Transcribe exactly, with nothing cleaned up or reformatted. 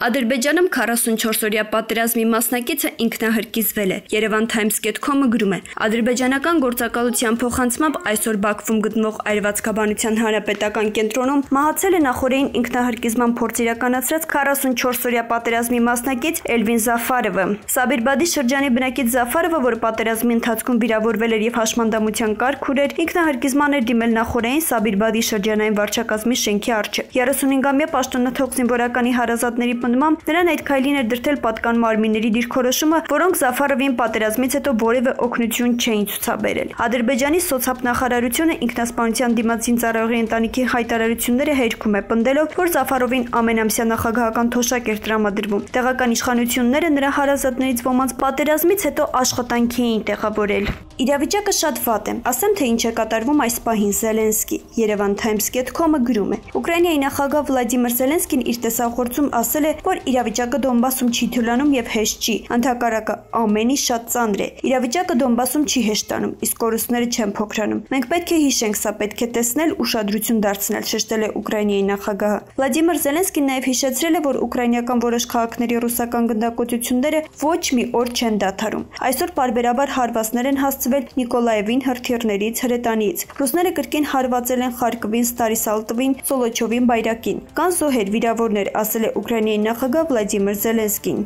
Ադրբեջանում քառասունչորս-օրյա պատերազմի մասնակիցը ինքնահրկիզվել է։ Երևան Times dot com-ը գրում է. Ադրբեջանական գործակալության փոխանցմամբ այսօր Բաքվում գտնվող Այրվածքաբանության հանրապետական կենտրոնում մահացել է նախօրեին ինքնահրկիզման փորձ իրականացրած քառասունչորս-օրյա պատերազմի մասնակից Էլվին Զաֆարովը։ Սաբիրբադի շրջանի բնակիչ Զաֆարովը, որ պատերազմի ընթացքում վիրավորվել էր եւ հաշմանդամության կարգ ուներ, ինքնահրկիզման էր դիմել նախօրեին Սաբիրբադի շրջանային վարչակազմի շենքի առջև։ երեսունհինգամյա պաշտոնաթող զինվորականի հարազատների պնդմամբ նրան այդ քայլին էր դրդել պատկան մարմինների դիրքորոշումը, որոնք Զաֆարովին պատերազմից հետո որևէ օգնություն չէին ցուցաբերել։ Ադրբեջանի սոցիալ-նախարարությունը ինքնասպանության դիմաց զինծառայողի ընտանիքի հայտարարությունները հերքում է, պնդելով, որ Զաֆարովին ամենամսյա նախագահական թոշակ էր տրամադրվում։ Տեղական իշխանությունները նրա հարազատներից ոմանց պատերազմից հետո աշխատանքի էին տեղավորել։ Իրավիճակը շատ վատ է, ասեմ թե ինչ է կատարվում այս պահին Զելենսկի։ Երևան Times dot com-ը գրում է. Ուկրաինայի նախագահ Վլադիմիր Զելենսկին իր տեսախորձում ասել է, որ իրավիճակը Դոնբասում չի թուլանում եւ հեշտ չի, ընդհակառակը ամեն ինչ շատ ծանր է։ Իրավիճակը Դոնբասում չի հեշտանում, իսկ կորուստները չեն փոքրանում։ Մենք պետք է հիշենք սա, պետք է տեսնել, ուշադրություն դարձնել, շեշտել է Ուկրաինայի նախագահը։ Վլադիմիր Զելենսկին նաեւ հիշեցրել է, որ ուկրաինական որոշ քաղաքների ռուսական գնդակոծությունները ոչ մի օր չեն դադարում։ Այսօր պարբերաբար հարվածներ են հասցվել Նիկոլաևին, հրթիռներից, հրետանից։ Ռուսները կրկին հարվածել են Խարկովին, Ստարիսալտովին, Սոլոչովին, Բայրակին։ Կան զոհեր, վիրավորներ, ասել է Ուկրաինայի նախագահ Վլադիմիր Զելենսկին։